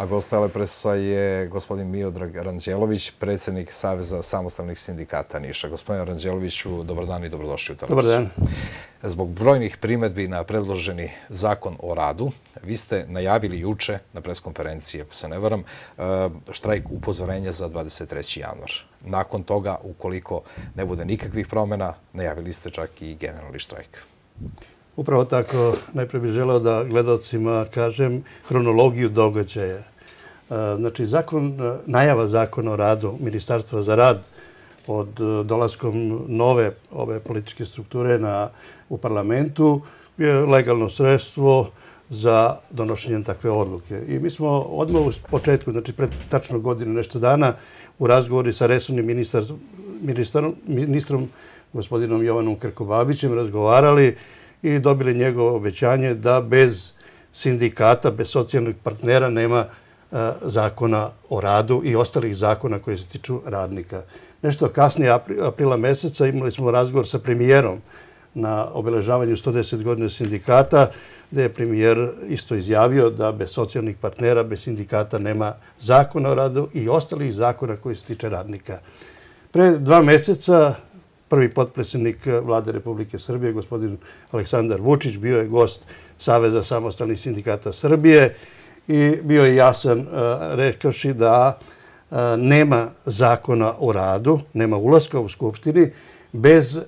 gost Telepresa je gospodin Miodrag Ranđelović, predsjednik Saveza samostalnih sindikata Niša. Gospodine Ranđeloviću, dobar dan i dobrodošli u Telepresu. Dobar dan. Zbog brojnih primedbi na predloženi zakon o radu, vi ste najavili juče na preskonferenciji, ako se ne varam, štrajk upozorenja za 23. januar. Nakon toga, ukoliko ne bude nikakvih promjena, najavili ste čak i generalni štrajk. Upravo tako, najprije bih želeo da gledalcima kažem hronologiju događaja. Znači, najava zakona o radu Ministarstva za rad od dolaskom nove ove političke strukture u parlamentu je legalno sredstvo za donošenje takve odluke. I mi smo odmah u početku, znači pred tačno godinu nešto dana, u razgovori sa resornim ministrom gospodinom Jovanom Krkobabićem razgovarali i dobili njegovo obećanje da bez sindikata, bez socijalnih partnera nema zakona o radu i ostalih zakona koji se tiču radnika. Nešto kasnije, aprila meseca, imali smo razgovor sa premijerom na obeležavanju 110 godina sindikata, gde je premijer isto izjavio da bez socijalnih partnera, bez sindikata nema zakona o radu i ostalih zakona koji se tiče radnika. Pre 2 meseca prvi potpredsjednik Vlade Republike Srbije, gospodin Aleksandar Vučić, bio je gost Saveza samostalnih sindikata Srbije i bio je jasan rekavši da nema zakona o radu, nema ulaska u Skupštini bez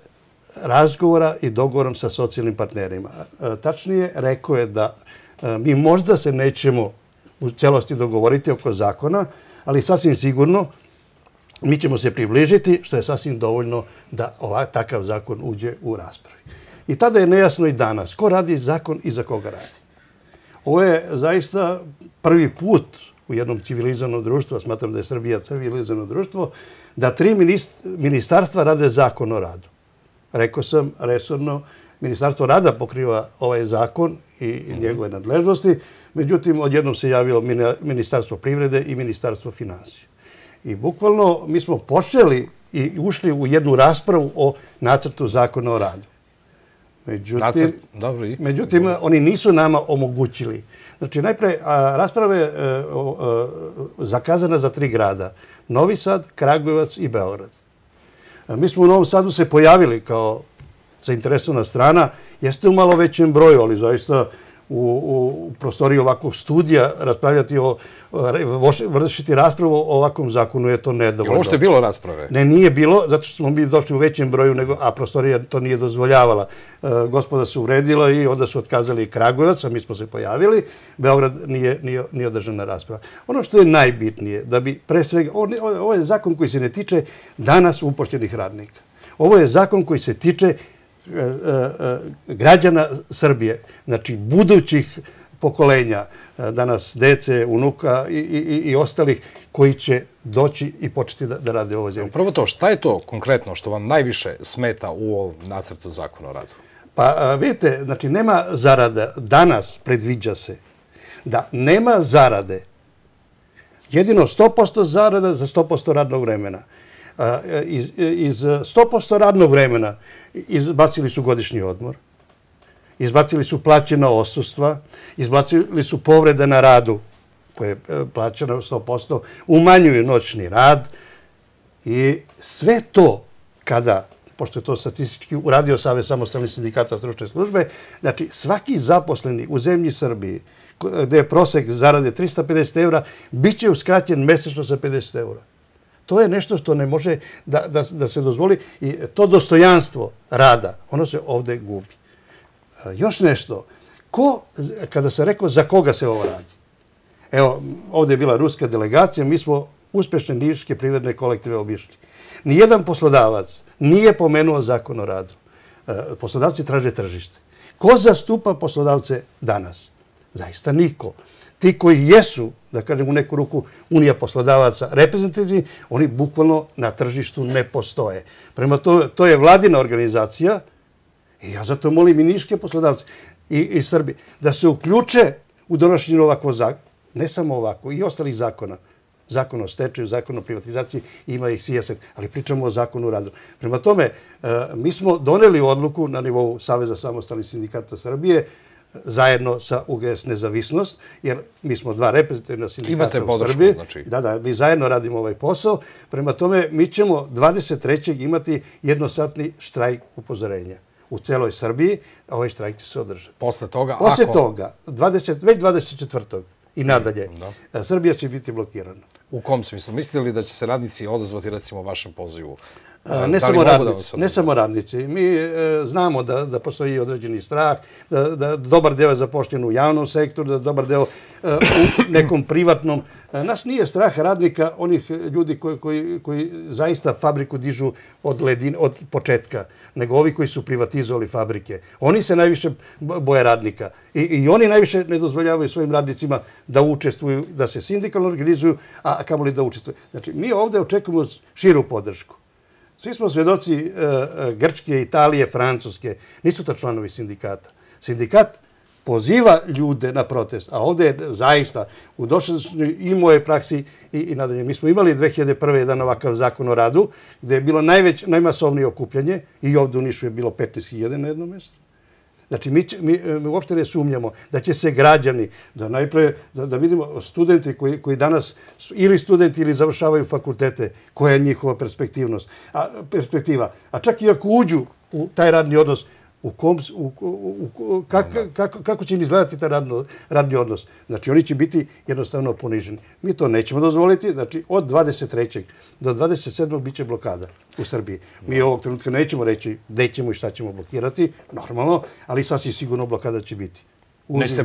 razgovora i dogovorom sa socijalnim partnerima. Tačnije, rekao je da mi možda se nećemo u celosti dogovoriti oko zakona, ali sasvim sigurno mi ćemo se približiti, što je sasvim dovoljno da takav zakon uđe u raspravi. I tada je nejasno i danas ko radi zakon i za koga radi. Ovo je zaista prvi put u jednom civilizovanom društvu, a smatram da je Srbija civilizovano društvo, da 3 ministarstva rade zakon o radu. Rekao sam, resorno, Ministarstvo rada pokriva ovaj zakon i njegove nadležnosti, međutim, odjednom se javilo Ministarstvo privrede i Ministarstvo finansija. I bukvalno mi smo počeli i ušli u jednu raspravu o nacrtu zakona o radu. Međutim, oni nisu nama omogućili. Znači, najpre, rasprava je zakazana za 3 grada. Novi Sad, Kragujevac i Beograd. Mi smo u Novom Sadu se pojavili kao zainteresovana strana. Jeste u malo većem broju, ali zaista u prostoriji ovakvog studija raspravljati vršiti raspravu o ovakvom zakonu je to nedovoljno. Je li ovo što je bilo rasprave? Ne, nije bilo, zato što smo mi došli u većem broju, a prostorija to nije dozvoljavala. Gospoda se uvredila i onda su otkazali Kragujevac, a mi smo se pojavili. Beograd nije održana rasprava. Ono što je najbitnije, da bi pre svega, ovo je zakon koji se ne tiče danas upošljenih radnika. Ovo je zakon koji se tiče građana Srbije, znači budućih pokolenja, danas dece, unuka i ostalih koji će doći i početi da rade u ovoj zemlji. Prvo to, šta je to konkretno što vam najviše smeta u ovom nacrtu zakona o radu? Pa vidite, znači nema zarada. Danas predviđa se da nema zarade. Jedino 100% zarada za 100% radnog vremena. Iz 100% radnog vremena izbacili su godišnji odmor, izbacili su plaćena odsustva, izbacili su povrede na radu koje je plaćeno 100%, umanjuju noćni rad i sve to kada, pošto je to statistički uradio Savez samostalnih sindikata stručne službe, znači svaki zaposleni u zemlji Srbiji gde je prosek zarade 350 € bit će uskraćen mesečno za 50 €. To je nešto što ne može da se dozvoli i to dostojanstvo rada, ono se ovde gubi. Još nešto, kada se rekao za koga se ovo radi? Evo, ovde je bila ruska delegacija, mi smo uspešne niške privredne kolektive obišli. Nijedan poslodavac nije pomenuo zakon o radu. Poslodavci traže tržište. Ko zastupa poslodavce danas? Zaista niko. Ti koji jesu, da kažem u neku ruku, unija poslodavaca reprezentativni, oni bukvalno na tržištu ne postoje. Prema to je vladina organizacija i ja zato molim i niške poslodavce i Srbi da se uključe u donošenju ovakvog zakona. Ne samo ovako, i ostalih zakona. Zakon o stečaju, zakon o privatizaciji, ima ih sijaset, ali pričamo o zakonu o radu. Prema tome, mi smo doneli odluku na nivou Saveza samostalnih sindikata Srbije zajedno sa UGS Nezavisnost, jer mi smo dva reprezentativna sindikata u Srbiji. Da, mi zajedno radimo ovaj posao. Prema tome, mi ćemo 23. imati jednosatni štrajk upozorenja u celoj Srbiji, a ovaj štrajk će se održati. Posle toga, već 24. i nadalje, Srbija će biti blokirana. U kom smislu? Mislite li da će se radnici odazvati, recimo, vašem pozivu? Ne samo radnici. Mi znamo da postoji određeni strah, da dobar deo je zapošljen u javnom sektoru, da dobar deo u nekom privatnom. Nas nije strah radnika, onih ljudi koji zaista fabriku dižu od početka, nego ovi koji su privatizovali fabrike. Oni se najviše boje radnika i oni najviše ne dozvoljavaju svojim radnicima da učestvuju, da se sindikalno organizuju, a kamoli da učestvuju. Znači, mi ovdje očekujemo širu podršku. Svi smo svedoci Grčke, Italije, Francuske. Nisu to članovi sindikata. Sindikat poziva ljude na protest, a ovdje je zaista u dosadašnjoj i moje praksi i nadalje. Mi smo imali 2001. jedan ovakav zakon o radu, gdje je bilo najmasovnije okupljanje i ovdje u Nišu je bilo 15.000 na jednom mjestu. Znači, mi uopšte ne sumnjamo da će se građani, da vidimo studenti koji danas ili studenti ili završavaju fakultete, koja je njihova perspektiva. A čak i ako uđu u taj radni odnos, kako će im izgledati taj radni odnos? Znači, oni će biti jednostavno poniženi. Mi to nećemo dozvoliti. Znači, od 23. do 27. bit će blokada u Srbiji. Mi ovog trenutka nećemo reći gde ćemo i šta ćemo blokirati, normalno, ali sasvim sigurno blokada će biti. Nećete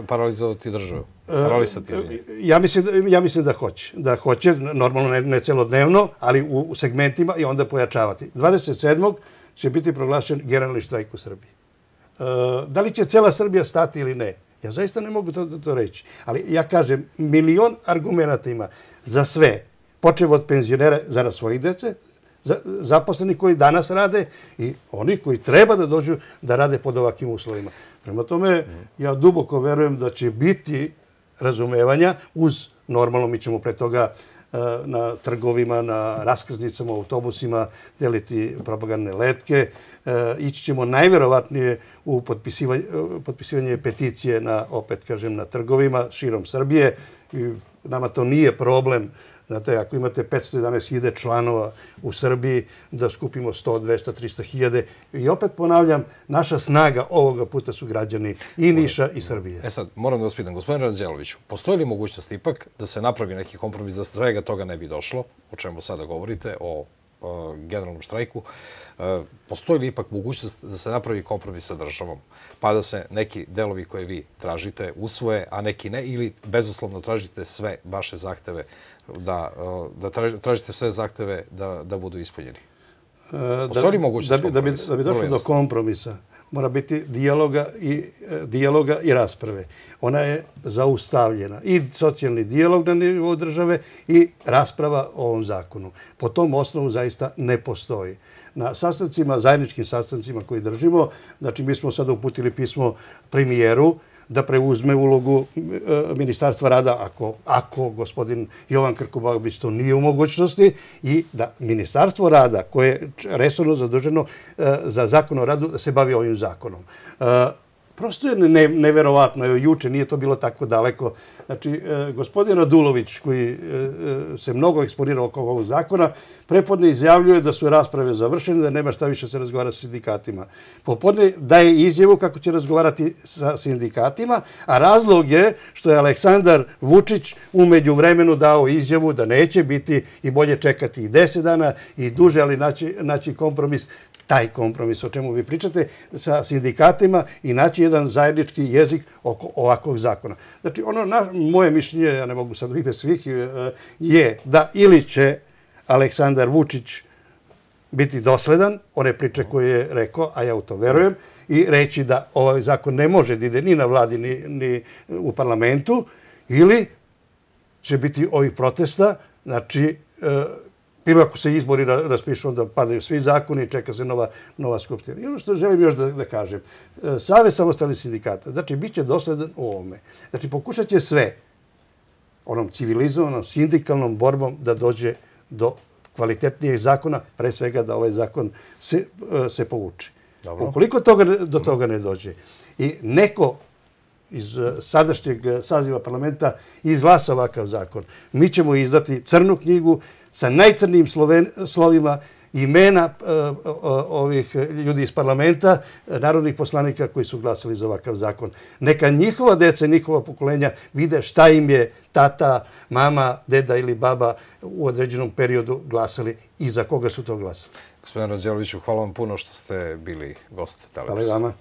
paralizovati državu? Paralisati, izvinite. Ja mislim da hoće. Da hoće, normalno ne celodnevno, ali u segmentima i onda pojačavati. 27. će biti proglašen generalni štrajk u Srbiji. Da li će cela Srbija stati ili ne? Ja zaista ne mogu to reći. Ali ja kažem, milion argumenta ima za sve. Počev od penzionera zarad svojih dece, zaposleni koji danas rade i oni koji treba da dođu da rade pod ovakvim uslovima. Prema tome, ja duboko verujem da će biti razumevanja uz, normalno mi ćemo pre toga na trgovima, na raskrsnicama, autobusima, deliti propagandne letke. Ići ćemo najverovatnije u potpisivanje peticije opet kažem, na trgovima širom Srbije. Nama to nije problem. Znate, ako imate 511.000 članova u Srbiji, da skupimo 100, 200, 300.000. I opet ponavljam, naša snaga ovoga puta su građani i Niša i Srbije. Sad, moram da vas pitam, gospodin Ranđeloviću, postoji li mogućnost ipak da se napravi neki kompromis, da svega toga ne bi došlo, o čemu sada govorite, o generalnom štrajku, postoji li ipak mogućnost da se napravi kompromis sa državom, pa da se neki delovi koje vi tražite usvoje, a neki ne, ili bezuslovno tražite sve vaše zahteve, da tražite sve zahteve da budu ispunjeni? Postoji li mogućnost kompromisa? Da bi došlo do kompromisa, mora biti dijaloga i rasprave. Ona je zaustavljena. I socijalni dijalog na nivou države i rasprava o ovom zakonu. Po tom osnovu zaista ne postoji. Na sastancima, zajedničkim sastancima koji držimo, znači mi smo sada uputili pismo premijeru da preuzme ulogu Ministarstva rada ako gospodin Jovan Krkobabić to nije u mogućnosti i da Ministarstvo rada koje je resorno zaduženo za zakon o radu da se bavi ovim zakonom. Prosto je neverovatno, juče nije to bilo tako daleko. Znači, gospodin Radulović, koji se mnogo eksponirao oko ovog zakona, prepodne izjavljuje da su rasprave završene, da nema šta više se razgovara sa sindikatima. Popodne daje izjavu kako će razgovarati sa sindikatima, a razlog je što je Aleksandar Vučić umeđu vremenu dao izjavu da neće biti i bolje čekati i 10 dana i duže, ali naći kompromis, taj kompromis o čemu vi pričate, sa sindikatima i naći jedan zajednički jezik oko ovakvog zakona. Znači, moje mišljenje, ja ne mogu sad u ime svih, je da ili će Aleksandar Vučić biti dosledan, one priče koje je rekao, a ja u to verujem, i reći da ovaj zakon ne može da ide ni na vladi, ni u parlamentu, ili će biti ovih protesta, znači, ili ako se izbori raspišu, onda padaju svi zakoni i čeka se nova skupština. I ono što želim još da kažem, Savez samostalnih sindikata, znači, bit će dosledan u ovome. Znači, pokušat će sve onom civilizovanom, sindikalnom borbom da dođe do kvalitetnijeg zakona, pre svega da ovaj zakon se povuče. Ukoliko do toga ne dođe i neko iz sadašnjeg saziva parlamenta izglasa ovakav zakon, mi ćemo izdati crnu knjigu sa najcrnijim slovima imena ovih ljudi iz parlamenta, narodnih poslanika koji su glasali za ovakav zakon. Neka njihova deca i njihova pokolenja vide šta im je tata, mama, deda ili baba u određenom periodu glasali i za koga su to glasali. Gospodin Ranđeloviću, hvala vam puno što ste bili gost Telepresa. Hvala i vama.